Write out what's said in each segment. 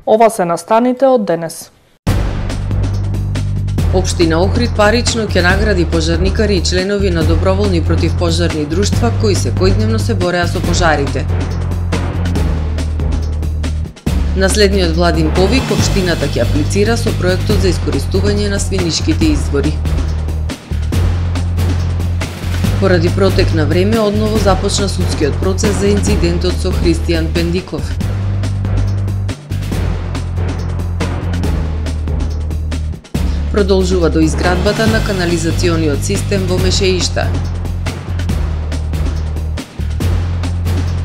Ова се настаните од денес. Општина Охрид парично ќе награди пожарникари и членови на доброволни противпожарни друштва кои секојдневно се бореа со пожарите. Наследниот владин повик општината ќе аплицира со проектот за искористување на свинишките извори. Поради протек на време, одново започна судскиот процес за инцидентот со Христијан Пендиков. Продолжува до изградбата на канализациониот систем во Мешеишта.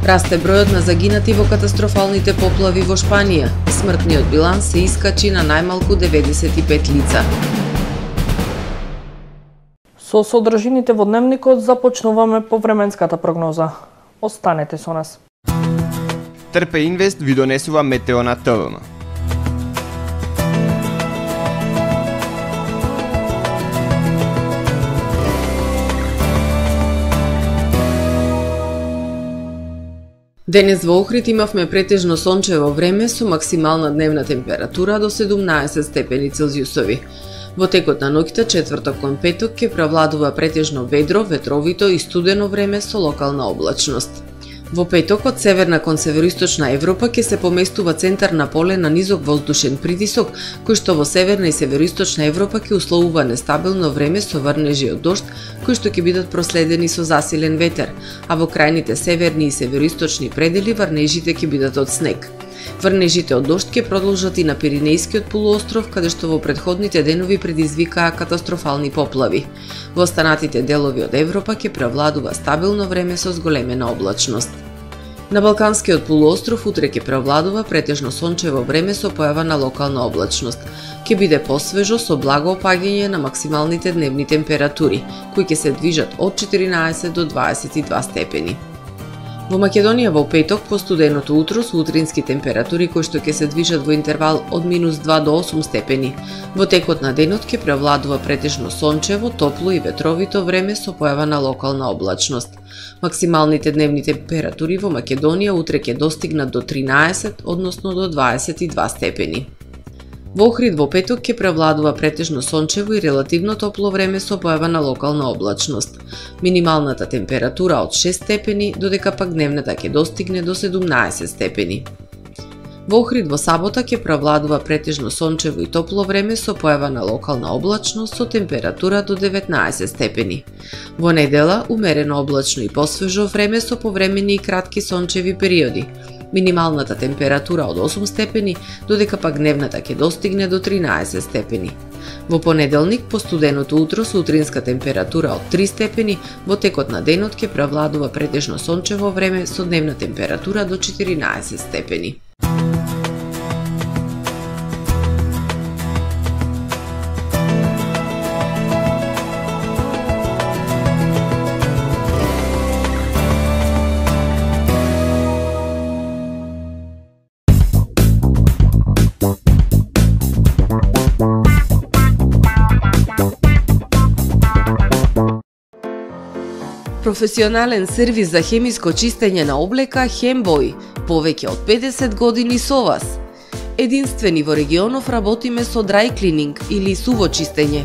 Расте бројот на загинати во катастрофалните поплави во Шпанија. Смртниот биланс се искачи на најмалку 95 лица. Со содржините во дневникот започнуваме по временската прогноза. Останете со нас. Трпе Инвест ви донесува метео на ТВМ. Денес во Охрид имавме претежно сончево време со максимална дневна температура до 17 степени Целзиусови. Во текот на ноќта, четврток кон петок, ќе превладува претежно ведро, ветровито и студено време со локална облачност. Во петок, од северна кон североисточна Европа ќе се поместува центар на поле на низок воздушен притисок, кој што во северна и североисточна Европа ќе условува нестабилно време со врнежи од дожд, кои што ќе бидат проследени со засилен ветер, а во крајните северни и североисточни предели врнежите ќе бидат од снег. Врнежите од дожд ќе продолжат и на Пиринејскиот полуостров, каде што во претходните денови предизвикаа катастрофални поплави. Во останатите делови од Европа ќе превладува стабилно време со зголемена облачност. На Балканскиот полуостров утре ќе превладува претежно сончево време со појава на локална облачност. Ќе биде посвежо со благо опаѓање на максималните дневни температури, кои ќе се движат од 14 до 22 степени. Во Македонија во петок по студеното утро со утрински температури кои што ќе се движат во интервал од -2 до 8 степени. Во текот на денот ќе превладува претежно сончево, топло и ветровито време со појава на локална облачност. Максималните дневни температури во Македонија утре ќе достигнат до 13, односно до 22 степени. Во Охрид во петок ќе превладува претежно сончево и релативно топло време со појава на локална облачност. Минималната температура од 6 степени, додека пак дневната ќе достигне до 17 степени. Во Охрид во сабота ќе превладува претежно сончево и топло време со појава на локална облачност со температура до 19 степени. Во недела умерено облачно и посвежо време со повремени и кратки сончеви периоди. Минималната температура од 8 степени, додека пак дневната ќе достигне до 13 степени. Во понеделник, по студеното утро со утринска температура од 3 степени, во текот на денот ќе превладува претежно сончево време со дневна температура до 14 степени. Професионален сервис за хемиско чистење на облека Хембој, повеќе од 50 години со вас. Единствени во регионов работиме со dry cleaning или суво чистење.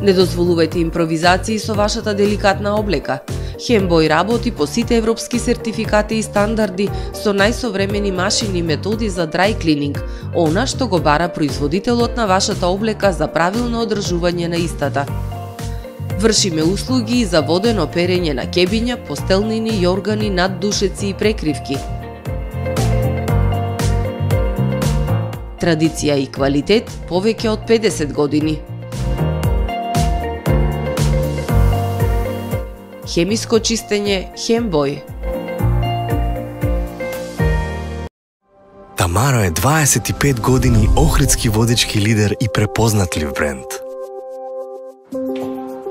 Не дозволувајте импровизации со вашата деликатна облека. Хембој работи по сите европски сертификати и стандарди со најсовремени машини и методи за dry cleaning, она што го бара производителот на вашата облека за правилно одржување на истата. Вршиме услуги за водено перење на кебиња, постелнини, јоргани, наддушеци и прекривки. Традиција и квалитет повеќе од 50 години. Хемиско чистење Хембој. Тамаро е 25 години охридски водички лидер и препознатлив бренд.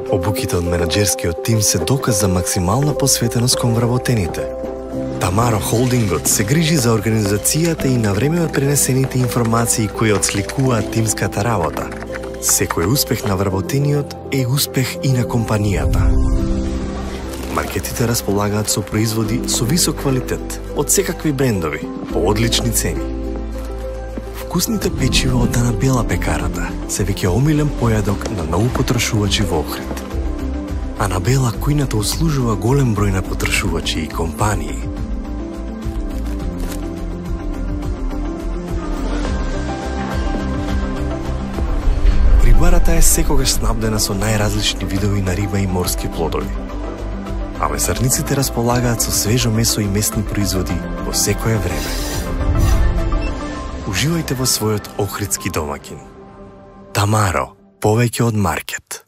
Обуките од менаџерскиот тим се доказ за максимална посветеност кон вработените. Тамаро Холдингот се грижи за организацијата и навреме пренесените информации кои отсликуваат тимската работа. Секој успех на вработениот е успех и на компанијата. Маркетите располагаат со производи со висок квалитет од секакви брендови по одлични цени. вкусните печива од Ана Бела пекарата се веќе омилен појадок на многу потрошувачи во Охрид. Ана Бела кујната услужува голем број на потрошувачи и компании. Рибарата е секогаш снабдена со најразлични видови на риба и морски плодови. А месарниците располагаат со свежо месо и местни производи во секое време. Уживајте во својот охридски домаќин. Тамаро, повеќе од маркет.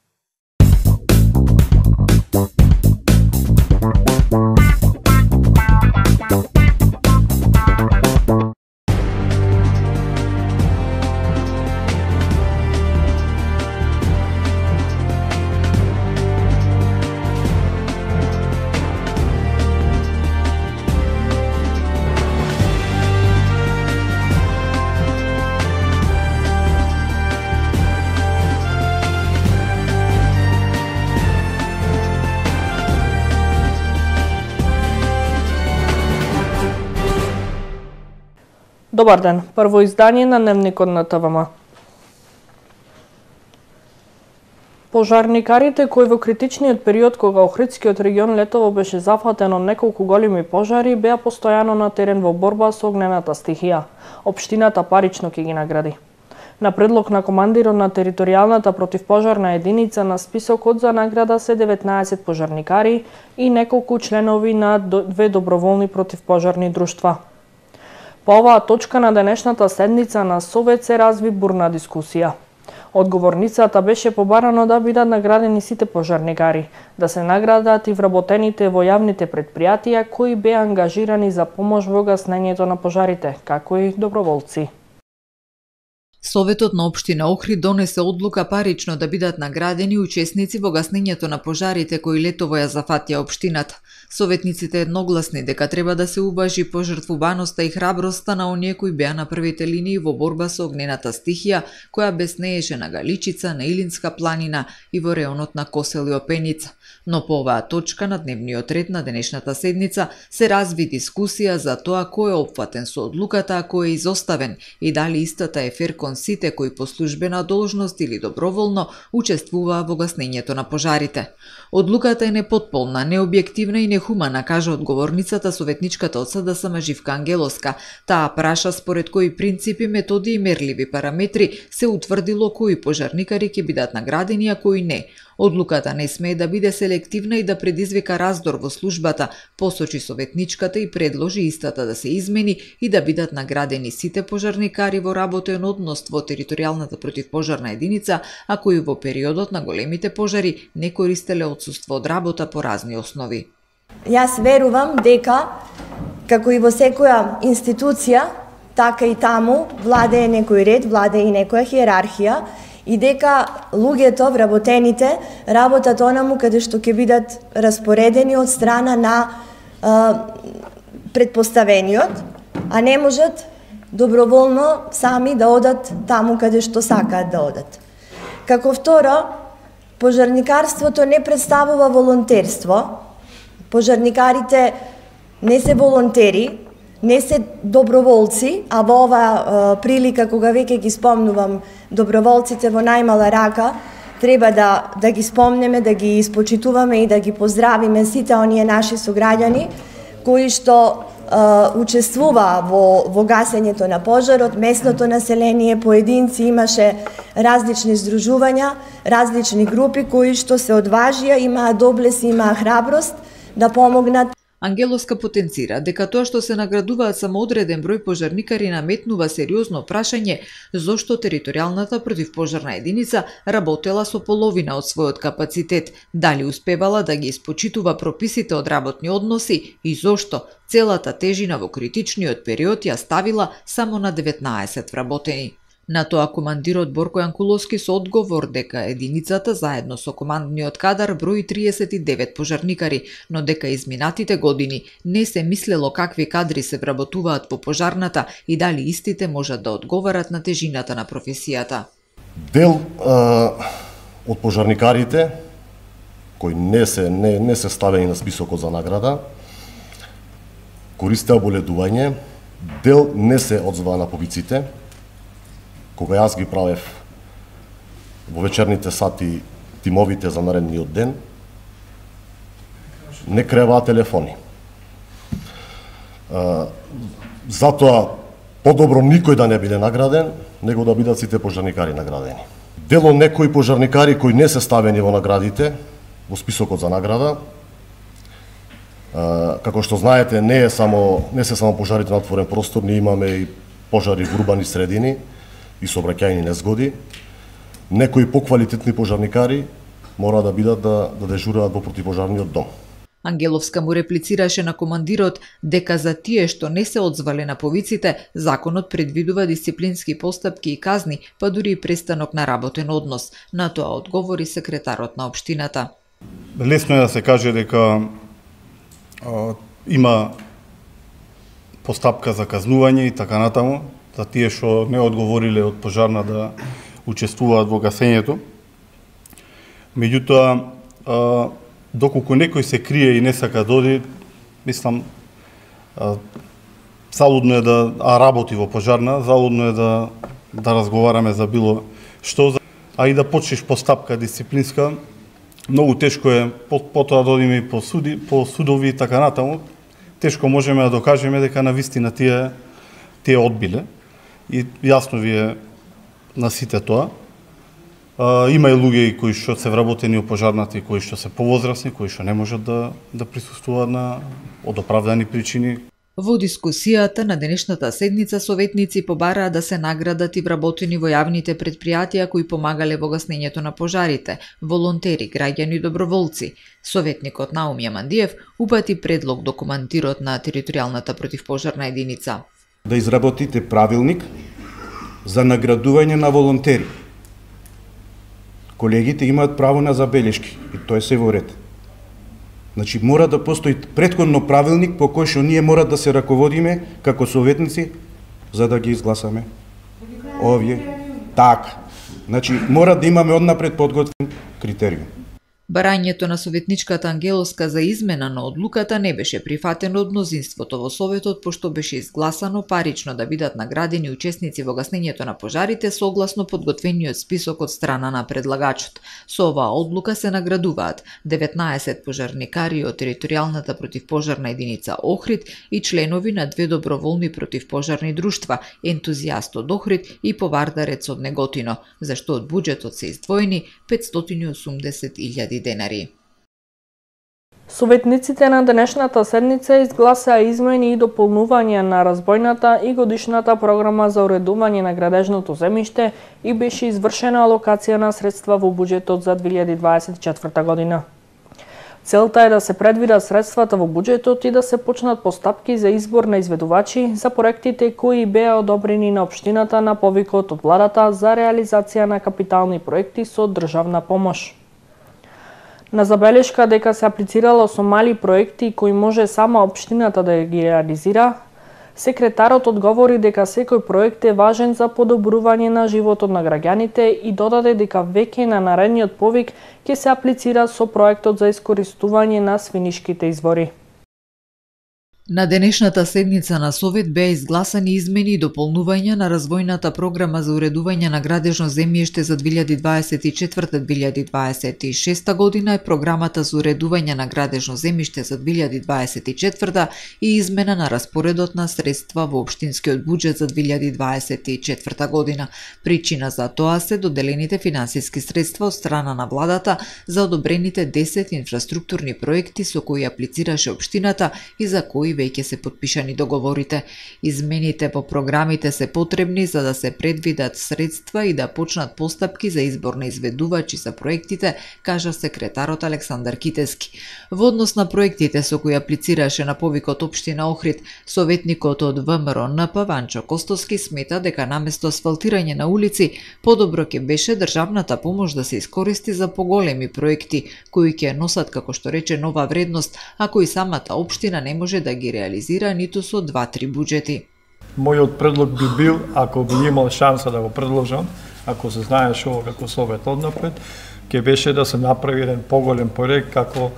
Добар ден, прво издание на Дневникот на ТВМ. Пожарникарите кои во критичниот период кога Охридскиот регион летово беше зафатен од неколку големи пожари, беа постојано на терен во борба со огнената стихија. Општината парично ќе ги награди. На предлог на командирот на територијалната противпожарна единица на списокот за награда се 19 пожарникари и неколку членови на две доброволни противпожарни друштва. По оваа точка на денешната седница на Совет се разви бурна дискусија. Одговорницата беше побарано да бидат наградени сите пожарникари, да се наградат и вработените во јавните претпријатија кои беа ангажирани за помош во гаснењето на пожарите, како и доброволци. Советот на општина Охрид донесе одлука парично да бидат наградени учесници во гаснењето на пожарите кои летово ја зафатија општината. Советниците едногласни дека треба да се уважи пожртвуваноста и храброста на оние кои беа на првите линии во борба со огнената стихија која беснееше на Галичица, на Илинска планина и во реонот на Косел и Опеница. Но по оваа точка на дневниот ред на денешната седница се разви дискусија за тоа кој е опфатен со одлуката, а кој е изоставен и дали истата е фер кон сите кои по службена должност или доброволно учествуваа во гаснењето на пожарите. Одлуката е непотполна, необјективна и нехумана, кажа одговорницата советничката од СДСМ Живка Ангелоска. Таа праша според кои принципи, методи и мерливи параметри се утврдило кои пожарникари ќе бидат наградени, а кои не. Одлуката не смее да биде селективна и да предизвика раздор во службата, посочи советничката и предложи истата да се измени и да бидат наградени сите пожарникари во работен однос во територијалната противпожарна единица, а кои во периодот на големите пожари не користеле отсуство од работа по разни основи. Јас верувам дека, како и во секоја институција, така и таму владее некој ред, владее и некоја хиерархија, и дека луѓето, вработените, работат онаму каде што ќе бидат распоредени од страна на предпоставениот, а не можат доброволно сами да одат таму каде што сакаат да одат. Како второ, пожарникарството не представува волонтерство. Пожарникарите не се волонтери, не се доброволци, а во оваа прилика, кога веќе ги спомнувам доброволците во најмала рака, треба да ги спомнеме, да ги испочитуваме и да ги поздравиме сите оние наши сограѓани кои што учествуваа во гасењето на пожарот, местното население, поединци, имаше различни здружувања, различни групи кои што се одважија, имаа доблес, имаа храброст да помогнат. Ангелоска потенцира дека тоа што се наградуваат само одреден број пожарникари наметнува сериозно прашање зошто територијалната противпожарна единица работела со половина од својот капацитет, дали успевала да ги испочитува прописите од работни односи и зошто целата тежина во критичниот период ја ставила само на 19 вработени. На тоа командирот Борко Јанкуловски со одговор дека единицата заедно со командниот кадар брои 39 пожарникари, но дека изминатите години не се мислело какви кадри се вработуваат во пожарната и дали истите можат да одговарат на тежината на професијата. Дел од пожарникарите кои не се ставени на списокот за награда користеа боледување, дел не се одзова на побиците, кога јас ги правев во вечерните сати тимовите за наредниот ден, не креваа телефони. Затоа подобро никој да не биде награден, него да бидат сите пожарникари наградени. Дело некои пожарникари кои не се ставени во наградите, во списокот за награда, како што знаете, не се само пожарите на отворен простор, ние имаме и пожари во урбани средини и сообраќајни незгоди. Некои поквалитетни пожарникари мора да бидат да дежураат во противпожарниот дом. Ангеловска му реплицираше на командирот дека за тие што не се одзвале на повиците, законот предвидува дисциплински постапки и казни, па дури и престанок на работен однос. На тоа одговори секретарот на општината. Лесно е да се каже дека има постапка за казнување и така натаму, за тие што не одговориле од пожарна да учествуваат во гасењето. Меѓутоа, доколку некој се крие и не сака доди, мислам, залудно е да работи во пожарна, залудно е да разговараме за било што, а и да почнеш постапка дисциплинска, многу тешко е потоа да одиме и по судови и така натаму. Тешко можеме да докажеме дека навистина тие одбиле. И јасно ви е на сите тоа. Има и луѓе кои што се вработени во пожарната и кои што се повозрасни, кои што не можат да присуствуваат од оправдани причини. Во дискусијата на денешната седница советници побараа да се наградат и вработени во јавните предпријатија кои помагале во гаснењето на пожарите, волонтери, граѓани и доброволци. Советникот Наумија Мандиев упати предлог до командирот на територијалната противпожарна единица. Да изработите правилник за наградување на волонтери. Колегите имаат право на забелешки и тоа се во ред. Значи, мора да постои претходно правилник по кој што ние мора да се раководиме како советници за да ги изгласаме. Овие. Така. Значи, мора да имаме однапред подготвен критериум. Барањето на советничката Ангеловска за измена на одлуката не беше прифатено од мнозинството во Советот, пошто беше изгласано парично да бидат наградени учесници во гаснењето на пожарите согласно подготвениот список од страна на предлагачот. Со оваа одлука се наградуваат 19 пожарникари од територијалната противпожарна единица Охрид и членови на 2 доброволни противпожарни друштва, ентузијаст од Охрид и повардарец од Неготино, за што од буџетот се издвоени 580.000 денари. Советниците на денешната седница изгласаа измени и дополнување на разбојната и годишната програма за уредување на градежното земјиште и беше извршена алокација на средства во буџетот за 2024 година. Целта е да се предвидат средствата во буџетот и да се почнат постапки за избор на изведувачи за проектите кои беа одобрени на општината на повикот од владата за реализација на капитални проекти со државна помош. На забелешка дека се аплицирало со мали проекти кои може сама општината да ги реализира, секретарот одговори дека секој проект е важен за подобрување на животот на граѓаните и додаде дека веќе на наредниот повик ќе се аплицира со проектот за искористување на свинишките извори. На денешната седница на Совет беа изгласани измени и дополнувања на развојната програма за уредување на градежно земјиште за 2024-2026 година и програмата за уредување на градежно земјиште за 2024 и измена на распоредот на средства во општинскиот буџет за 2024 година. Причина за тоа се доделените финансиски средства од страна на владата за одобрените 10 инфраструктурни проекти со кои аплицираше општината и за кои веќе се потпишани договорите. Измените по програмите се потребни за да се предвидат средства и да почнат постапки за избор на изведувачи за проектите, кажа секретарот Александар Китески. Во однос на проектите со кои аплицираше на повикот општина Охрид, советникот од ВМРО НП Ванчо Костоски смета дека наместо асфалтирање на улици, подобро ќе беше државната помош да се искористи за поголеми проекти кои ќе носат, како што рече, нова вредност, а кои самата општина не може да ги реализира ниту со 2-3 буџети. Мојот предлог би бил, ако би имал шанса да го предложам, ако се знаеше ово како Совет однапред, ќе беше да се направи еден поголем проект како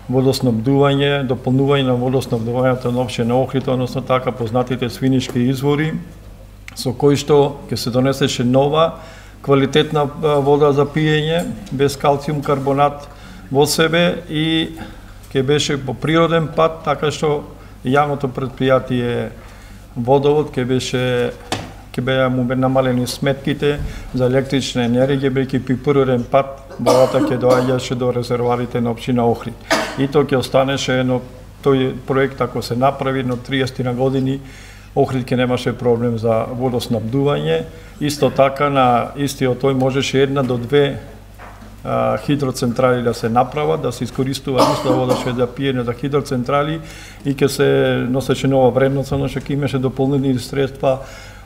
водоснабдување, дополнување на водоснабдувањето на општина Охрид, односно така познатите свинишки извори со кој што ќе се донесеше нова квалитетна вода за пиење без калциум карбонат во себе и ќе беше по природен пат, така што јавното предпријатие Водовод ќе беа му намалени сметките за електрична енергија, бидејќи по природен пат водата ќе доаѓаше до резервоарите на општина Охрид. И тоа ќе останеше тој проект ако се направи на 30 на години, Охрид ќе немаше проблем за водоснабдување. Исто така на истиот тој можеше 1 до 2 хидроцентрали да се направат, да се искористува иста вода што е за пиење за хидроцентрали и ќе се носеше нова вредност, но што ќе имаше дополнителни средства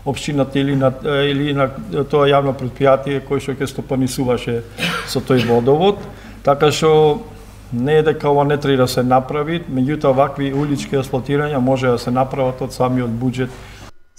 општината или на тоа јавно предпријатие кој што ќе стопанисуваше со тој водовод. Така што не е дека ова не треба да се направи, меѓутоа вакви улички асфалтирања може да се направат од самиот буџет.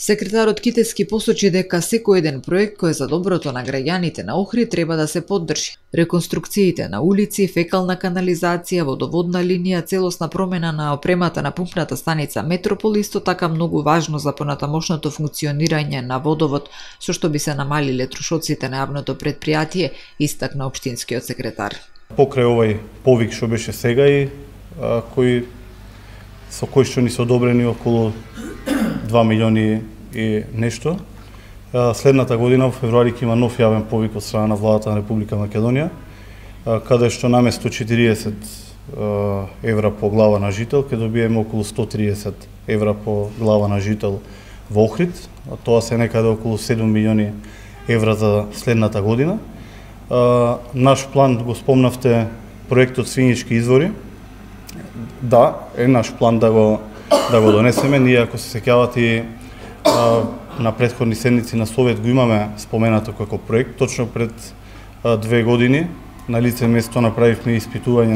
Секретарот Китески посочи дека секој еден проект кој е за доброто на граѓаните на Охрид треба да се поддржи. Реконструкциите на улици, фекална канализација, водоводна линија, целосна промена на опремата на пумпната станица Метропол исто така многу важно за понатамошното функционирање на водовод, со што би се намалиле трошоците на јавното предпријатие, истакна општинскиот секретар. Покрај овој повик што беше сега и со кој што ни се одобрени околу 2 милиони и нешто. Следната година, во февруари, ќе има нов јавен повик од страна на владата на Република Македонија, каде што наместо 40 евра по глава на жител, ќе добиеме околу 130 евра по глава на жител во Охрид. Тоа се некаде околу 7 милиони евра за следната година. Наш план, го спомнавте, проектот Свинички извори. Да, е наш план да го донесеме. Ние, ако се сеќавате, на претходни седници на Совет го имаме споменато како проект. Точно пред 2 години на лице место направивме испитување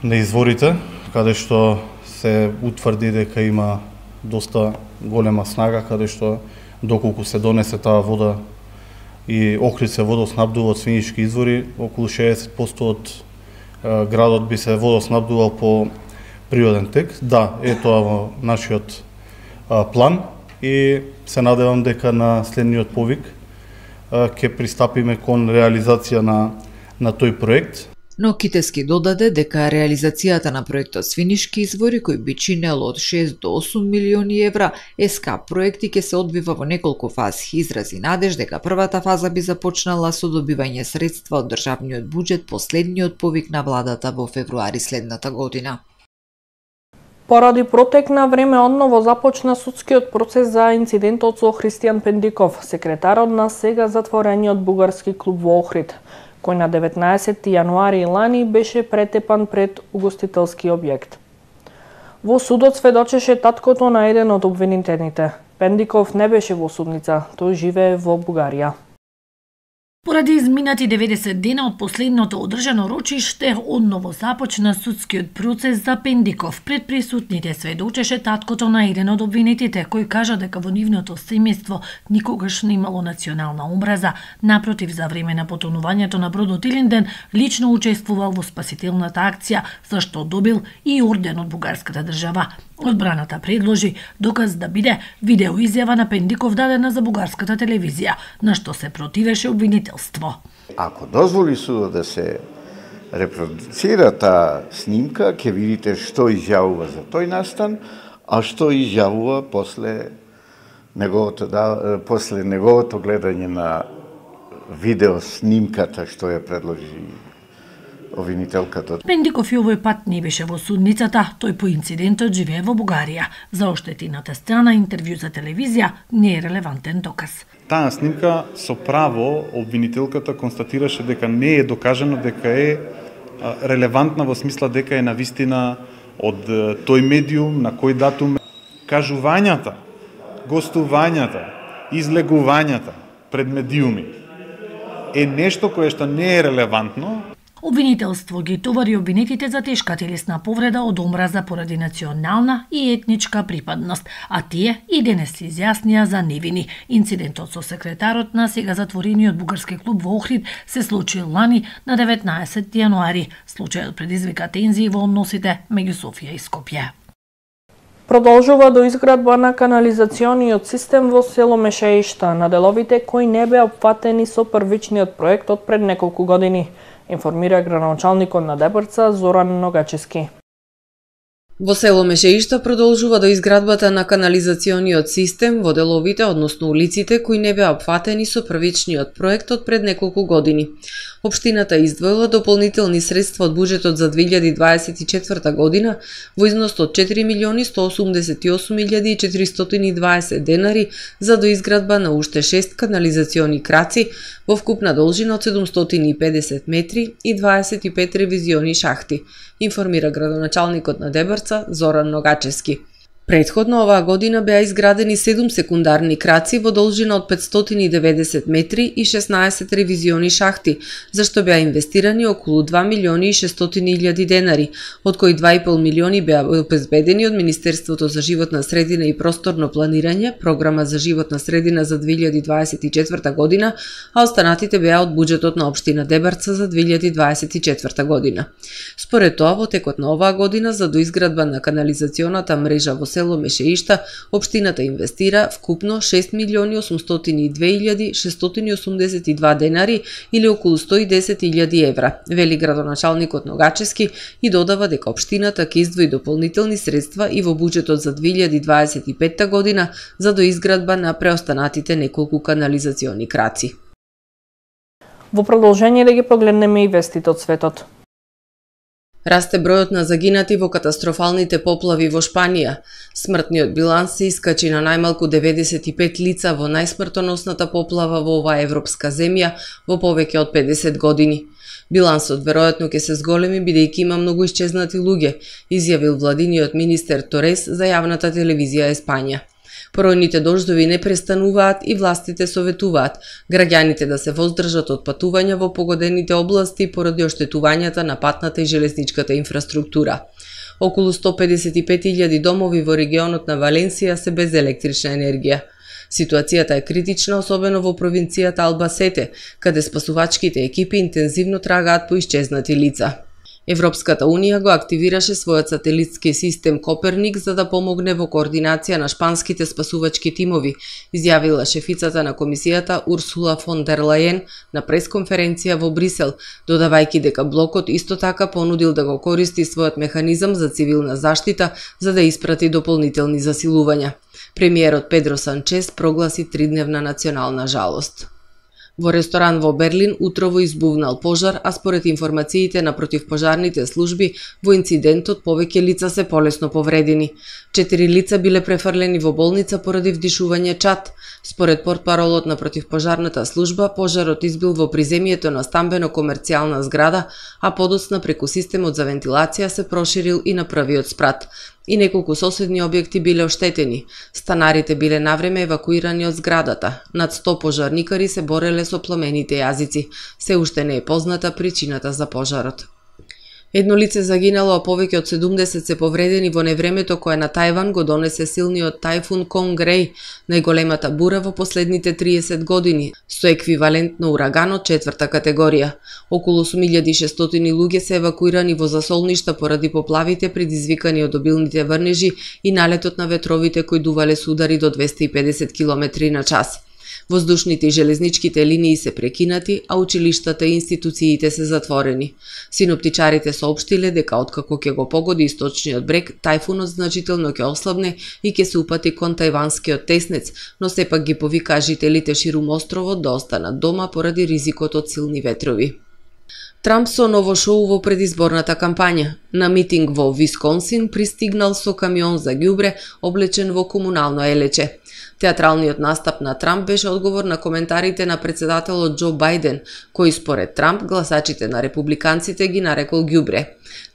на изворите, каде што се утврди дека има доста голема снага, каде што доколку се донесе таа вода и Охрид се водоснабдува од Свинички извори, околу 60% од градот би се водоснабдувал по природен тек. Да, е тоа во нашиот план и се надевам дека на следниот повик ќе пристапиме кон реализација на тој проект. Но Китески додаде дека реализацијата на проектот Свинички извори, кој би чинел од 6 до 8 милиони евра, СК проекти ќе се одвива во неколку фази. Изрази надеж дека првата фаза би започнала со добивање средства од државниот буџет по следниот повик на владата во февруари следната година. Поради протек на време одново започна судскиот процес за инцидентот со Христијан Пендиков, секретарот на сега затворениот бугарски клуб во Охрид, кој на 19 јануари лани беше претепан пред угостителски објект. Во судот сведочеше таткото на еден од обвинетените. Пендиков не беше во судница, тој живее во Бугарија. Поради изминати 90 дена од последното одржано рочиште, одново започна судскиот процес за Пендиков. Пред присутните сведочеше таткото на еден од обвинетите, кој кажа дека во нивното семејство никогаш не имало национална омраза. Напротив, за време на потонувањето на бродот Илинден, лично учествувал во спасителната акција, за што добил и орден од бугарската држава. Одбраната предложи доказ да биде видеоизјава на Пендиков дадена за бугарската телевизија, на што се противеше обвинителство. Ако дозволи судот да се репродуцира таа снимка, ќе видите што изјавува за тој настан, а што изјавува после неговото гледање на видео снимката што ја предложи обвинителката. Пендиков и овој пат не беше во судницата, тој по инцидентот живее во Бугарија. За оштетината страна интервју за телевизија не е релевантен доказ. Таа снимка со право обвинителката констатираше дека не е докажано дека е релевантна во смисла дека е навистина од тој медиум, на кој датум. Кажувањата, гостувањата, излегувањата пред медиуми е нешто кое што не е релевантно. Обвинителство ги товари обвинетите за тешка телесна повреда од омраза поради национална и етничка припадност, а тие и денес се изјаснија за невини. Инцидентот со секретарот на сега затворениот бугарски клуб во Охрид се случил лани на 19 јануари. Случајот предизвика тензии во односите меѓу Софија и Скопје. Продолжува до изградба на канализациониот систем во село Мешеишта на деловите кои не беа опфатени со првичниот проект од пред неколку години, информира градоначалникот на Дебрца Зоран Ногачевски. Во село Мешеишта продолжува до изградбата на канализациониот систем во деловите, односно улиците, кои не беа опфатени со првичниот проект од пред неколку години. Општината издвоила дополнителни средства од буџетот за 2024 година во износ од 4.188.420 денари за доизградба на уште 6 канализациони краци во вкупна должина од 750 метри и 25 ревизиони шахти, информира градоначалникот на Дебрца Зоран Ногачевски. Претходно оваа година беа изградени 7 секундарни краци во должина од 590 метри и 16 ревизиони шахти, за што беа инвестирани околу 2.600.000 денари, од кои 2,5 милиони беа обезбедени од Министерството за животна средина и просторно планирање, програма за животна средина за 2024 година, а останатите беа од буџетот на општина Дебрца за 2024 година. Според тоа, во текот на оваа година за доизградба на канализационата мрежа во село Мешеишта, општината инвестира вкупно 6.802.682 денари или околу 110.000 евра, вели градоначалникот Ногачевски и додава дека општината ќе издвои дополнителни средства и во буџетот за 2025 година за доизградба на преостанатите неколку канализациони краци. Во продолжение да ги погледнеме и вестите од светот. Расте бројот на загинати во катастрофалните поплави во Шпанија. Смртниот биланс се искачи на најмалку 95 лица во најсмртоносната поплава во оваа европска земја во повеќе од 50 години. Билансот веројатно ќе се зголеми бидејќи има многу исчезнати луѓе, изјавил владиниот министер Торес за јавната телевизија Еспања. Поројните дождови не престануваат и властите советуваат граѓаните да се воздржат од патувања во погодените области поради оштетувањата на патната и железничката инфраструктура. Околу 155.000 домови во регионот на Валенсија се без електрична енергија. Ситуацијата е критична, особено во провинцијата Албасете, каде спасувачките екипи интензивно трагаат по исчезнати лица. Европската Унија го активираше својот сателитски систем Коперник за да помогне во координација на шпанските спасувачки тимови, изјавила шефицата на комисијата Урсула фон дер Лајен на пресконференција во Брисел, додавајќи дека блокот исто така понудил да го користи својот механизам за цивилна заштита за да испрати дополнителни засилувања. Премиерот Педро Санчес прогласи 3-дневна национална жалост. Во ресторан во Берлин утрово избувнал пожар, а според информациите на противпожарните служби, во инцидентот повеќе лица се полесно повредени. 4 лица биле префрлени во болница поради вдишување чад. Според портпаролот на противпожарната служба, пожарот избил во приземјето на стамбено-комерцијална зграда, а подоцна преку системот за вентилација се проширил и на првиот спрат. И неколку соседни објекти биле оштетени. Станарите биле навреме евакуирани од зградата. Над 100 пожарникари се бореле со пламените јазици. Се уште не е позната причината за пожарот. Едно лице загинало, а повеќе од 70 се повредени во невремето кое на Тајван го донесе силниот тајфун Конгрей, најголемата бура во последните 30 години, со еквивалент на ураганот 4-та категорија. Околу 8600 луѓе се евакуирани во засолништа поради поплавите предизвикани од обилните врнежи и налетот на ветровите кои дувале со удари до 250 км на час. Воздушните и железничките линии се прекинати, а училиштата и институциите се затворени. Синоптичарите соопштиле дека откако ќе го погоди источниот брег, тајфунот значително ќе ослабне и ќе се упати кон тајванскиот теснец, но сепак ги повикаа жителите ширум островот да останат дома поради ризикот од силни ветрови. Трамп со ново шоу во предизборната кампања. На митинг во Висконсин пристигнал со камион за ѓубре облечен во комунално елече. Театралниот настап на Трамп беше одговор на коментарите на председателот Џо Бајден, кој според Трамп гласачите на републиканците ги нарекол ѓубре.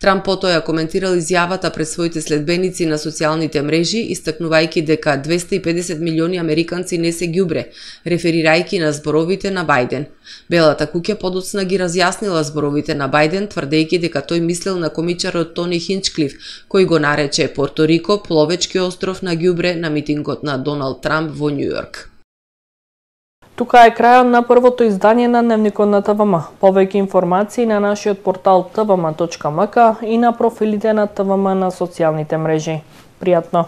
Трамп потоа коментирал изјавата пред своите следбеници на социјалните мрежи, истакнувајќи дека 250 милиони американци не се ѓубре, реферирајќи на зборовите на Бајден. Белата куќа подоцна ги разјаснила зборовите на Бајден, тврдејќи дека тој мислел на комичарот Тони Хинчклиф, кој го нарече Порто Рико пловечки остров на ѓубре на митингот на Доналд Трамп во Њујорк. Тука е крајот на првото издание на Дневникот на ТВМ. Повеќе информации на нашиот портал tvm.mk и на профилите на ТВМ на социјалните мрежи. Пријатно!